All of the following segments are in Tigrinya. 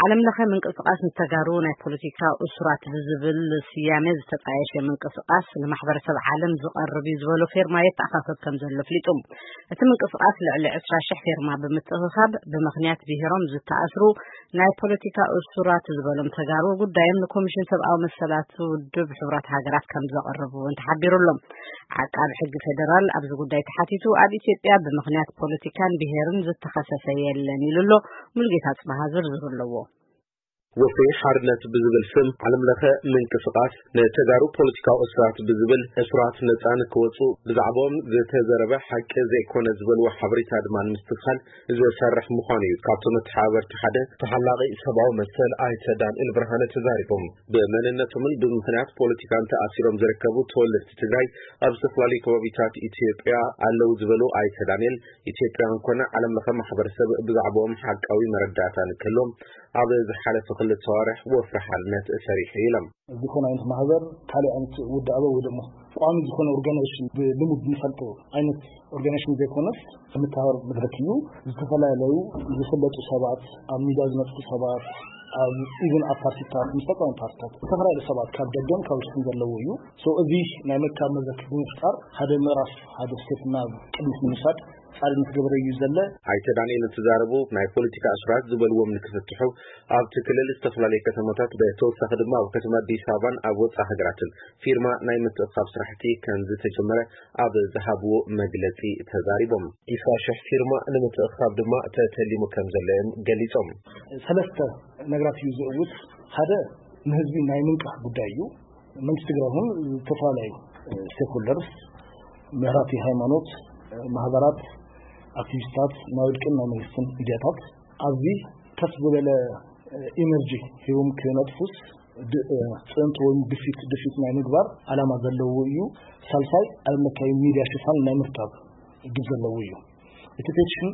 ዓለም ለኸ ምንቅስቃስ ንተጋሩ ናይ ፖለቲካ እሱራት ብዝብል ስያሜ ዝተጣየሸ ምንቅስቃስ ንማሕበረሰብ ዓለም ዝቐርብ እዩ ዝበሎ ፌርማ የተኣኻኸብ ከም ዘሎ ኣፍሊጡ። እቲ ምንቅስቃስ ልዕሊ ዕስራ ሽሕ ፌርማ ብምትእኽኻብ ብምኽንያት ብሄሮም ዝተኣስሩ ናይ ፖለቲካ እሱራት ዝበሎም ተጋሩ ጉዳዮም ንኮሚሽን ሰብኣዊ መሰላት ውድብ ሕቡራት ሃገራት ከም ዘቐረቡ እውን ተሓቢሩ ኣሎ። ዓቃቢ ሕጊ ፌደራል ኣብዚ ጉዳይ ተሓቲቱ ኣብ ኢትዮጵያ ብምኽንያት ፖለቲካን ብሄርን ዝተኸሰሰ የለን ኢሉ ኣሎ። ሙሉጌታ ጽባሃ ዝርዝሩ ኣለዎ። ወፍሪ ሓርነት ብዝብል ስም ዓለም ለኸ ምንቅስቃስ ንተጋሩ ፖለቲካዊ እሱራት ብዝብል እሱራት ነፃ ንክወፁ ብዛዕባኦም ዝተዘረበ ሓቂ ዘይኮነ ዝበልዎ ሓበሬታ ድማ ንምስትብሃል ዝሰርሕ ምዃኑ እዩ ካብቶም መተሓባበርቲ ሓደ ተሓላቒ ሰብኣዊ መሰል ኣይተ ዳንኤል ብርሃነ ተዛሪቦም። ብመንነቶምን ብምኽንያት ፖለቲካን ተኣሲሮም ዝርከቡ ተወለድቲ ትግራይ ኣብ ዝተፈላለዩ ከባቢታት ኢትዮጵያ ኣለዉ ዝበሉ ኣይተ ዳንኤል፣ ኢትዮጵያውያን ኮነ ዓለም ለኸ ማሕበረሰብ ብዛዕባኦም ሓቃዊ መረዳእታ ንክህልዎም ኣብ ዝሓለፈ ክልተ ኣዋርሕ ወፍሪ ሓርነት ሰሪሑ ኢሎም። ዝኾነ ዓይነት ማህበር ካልእ ዓይነት ውዳበ ወይ ደሞ ቋሚ ዝኾነ ኦርጋናይዜሽን ብልሙድ ንፈልጦ ዓይነት ኦርጋናይዜሽን ዘይኮነስ መተባበር መድረክ እዩ። ዝተፈላለዩ ዝፍለጡ ሰባት፣ ኣብ ሚድያ ዝመፅኡ ሰባት፣ ኣብ ኢቭን ኣብ ፓርቲታት ምስ ተቃዋሚ ፓርቲታት ዝተፈላለዩ ሰባት ካብ ደገን ካብ ውሽጥን ዘለዎ እዩ። ሶ እዚ ናይ ምርካብ መድረክ ብምፍጣር ሓደ ምዕራፍ ሓደ ስቴፕ ናብ ቅድሚት ንምውሳድ ፃዕሪ እናተገበረ እዩ ዘለ። ኣይተ ዳንኤል እንትዛረቡ ናይ ፖለቲካ እሱራት ዝበልዎም ንክፍትሑ ኣብቲ ክልል ዝተፈላለዩ ከተማታት ብተወሳኺ ድማ ኣብ ከተማ ኣዲስ ኣበባን ኣብ ወፃኢ ሃገራትን ፊርማ ናይ ምትእኻብ ስራሕቲ ከም ዝተጀመረ ኣብ ዝሃብዎ መግለፂ ተዛሪቦም። ኢሳ ሽሕ ፊርማ ንምትእኻብ ድማ ተተሊሙ ከም ዘሎ እዮም ገሊፆም። ሰለስተ ነገራት እዩ ዝእውት። ሓደ ንህዝቢ ናይ ምንቃሕ ጉዳይ እዩ። መንግስቲ ትግራይ እውን ዝተፈላለዩ ስቴክሆልደርስ፣ መራሕቲ ሃይማኖት፣ ማህበራት፣ ኣክቲቪስታት፣ ናይ ውልቅን ናይ መንግስትን ሚድያታት ኣብዚ ከፍ ዝበለ ኢነርጂ ሂቦም ክነጥፉስ ጽዕንቶ ወይ ግፊት ድፊት ናይ ምግባር ዓላማ ዘለዎ እዩ። ሳልሳይ ዓለም ለካዊ ሚድያ ሽፋን ናይ ምርካብ ግብ ዘለዎ እዩ። እቲ ፔቲሽን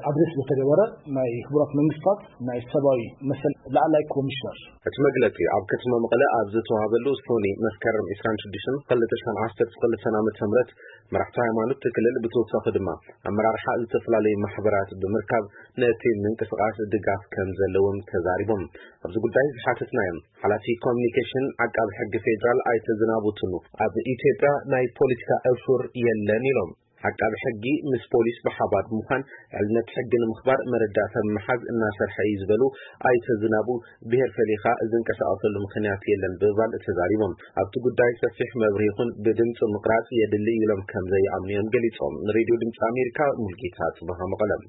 ኣድሬስ ዝተገበረ ናይ ሕቡራት መንግስታት ናይ ሰብኣዊ መሰል ላዕላይ ኮሚሽነር። እቲ መግለጺ ኣብ ከተማ መቐለ ኣብ ዝተዋህበሉ ሶኒ መስከረም ዕስራን ሽዱሽተን ክልተ ሽሕን ዓሰርተ ክልተን ዓመተ ምህረት መራሕቲ ሃይማኖት እቲ ክልል ብተወሳኺ ድማ ኣመራርሓ ዝተፈላለዩ ማሕበራት ብምርካብ ነቲ ምንቅስቃስ ድጋፍ ከም ዘለዎም ተዛሪቦም። ኣብዚ ጉዳይ ዝሓተትናዮም ሓላፊ ኮሚኒኬሽን ዓቃቢ ሕጊ ፌዴራል ኣይተ ዝናቡ ቱኑ ኣብ ኢትዮጵያ ናይ ፖለቲካ እሱር የለን ኢሎም። ዓቃቢ ሕጊ ምስ ፖሊስ ብሓባር ብምዃን ዕልነት ሕጊ ንምኽባር መረዳእታ ብምሓዝ እናሰርሐ እዩ ዝበሉ ኣይተ ዝናቡ፣ ብሄር ፈሊኻ ዝንቀሳቐሰሉ ምኽንያት የለን ብምባል ተዛሪቦም። ኣብቲ ጉዳይ ሰፊሕ መብርሂ ይኹን ብድምፂ ምቕራፅ የድሊ ኢሎም ከም ዘይኣምኑ እዮም ገሊፆም። ንሬድዮ ድምፂ ኣሜሪካ ሙልጌታ ፅበሃ መቐለም።